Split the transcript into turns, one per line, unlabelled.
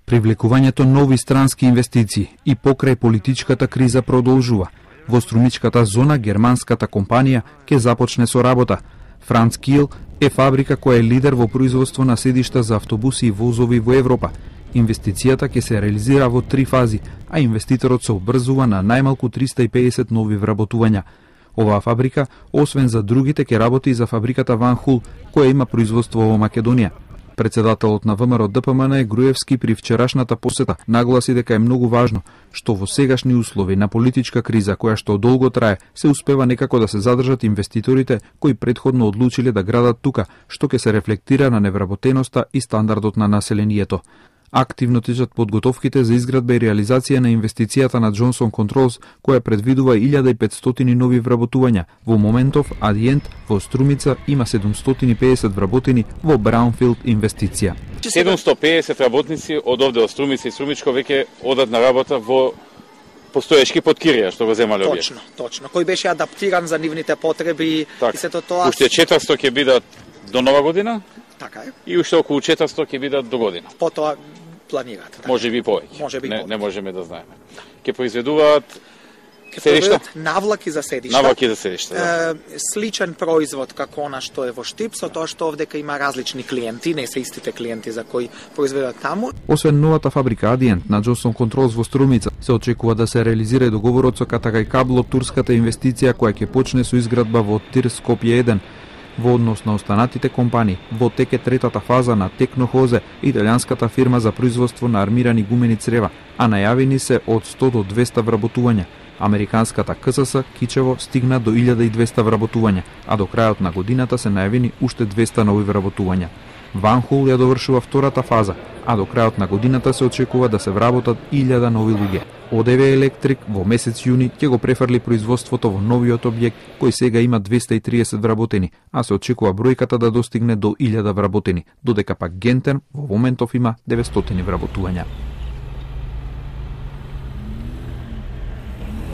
Привлекувањето нови странски инвестиции и покрај политичката криза продолжува. Во струмичката зона германската компанија ќе започне со работа. Франц Кил е фабрика која е лидер во производство на седишта за автобуси и возови во Европа. Инвестицијата ќе се реализира во 3 фази, а инвеститорот се обрзува на најмалку 350 нови вработувања. Оваа фабрика, освен за другите, ќе работи и за фабриката Ван Хул, која има производство во Македонија. Председателот на ВМРО ДПМН Груевски при вчерашната посета нагласи дека е многу важно што во сегашни услови на политичка криза која што долго трае, се успева некако да се задржат инвеститорите кои претходно одлучиле да градат тука, што ќе се рефлектира на невработеноста и стандардот на населението. Активно течат подготовките за изградба и реализација на инвестицијата на Johnson Controls, која предвидува 1500 нови вработувања. Во моментов, Адиент во Струмица има 750 вработени во Браунфилд инвестиција.
750 работници од овде од Струмица и Струмичко веќе одат на работа во постоечки подкирија што го земале овие.
Точно. Кој беше адаптиран за нивните потреби и сето тоа.
Уште 400 ќе бидат до нова година.
Така е.
И уште околу 400 ќе бидат до година.
Потоа планират.
Да. Може би повеќе.
Повеќе.
Не можеме да знаеме. Ќе произведуваат седишта?
Навлаки за седишта.
Навлаки за седишта, да.
Сличен производ како она што е во Штип, со тоа што овдека има различни клиенти, не се истите клиенти за кои произведат таму.
Освен новата фабрика Адиент на Johnson Controls во Струмица, се очекува да се реализира договорот со Катагај Кабло, турската инвестиција која ќе почне со изградба во Тир Скопје 1. Во однос на останатите компании, во тек е третата фаза на Технохозе, италијанската фирма за производство на армирани гумени црева, а најавени се од 100 до 200 вработувања. Американската КСС Кичево стигна до 1200 вработувања, а до крајот на годината се најавени уште 200 нови вработувања. Ван Хул ја довршува втората фаза, а до крајот на годината се очекува да се вработат 1000 нови луѓе. ОДВ Електрик во месец јуни ќе го префрли производството во новиот објект, кој сега има 230 вработени, а се очекува бројката да достигне до 1000 вработени, додека пак Гентен во моментов има 900 вработувања.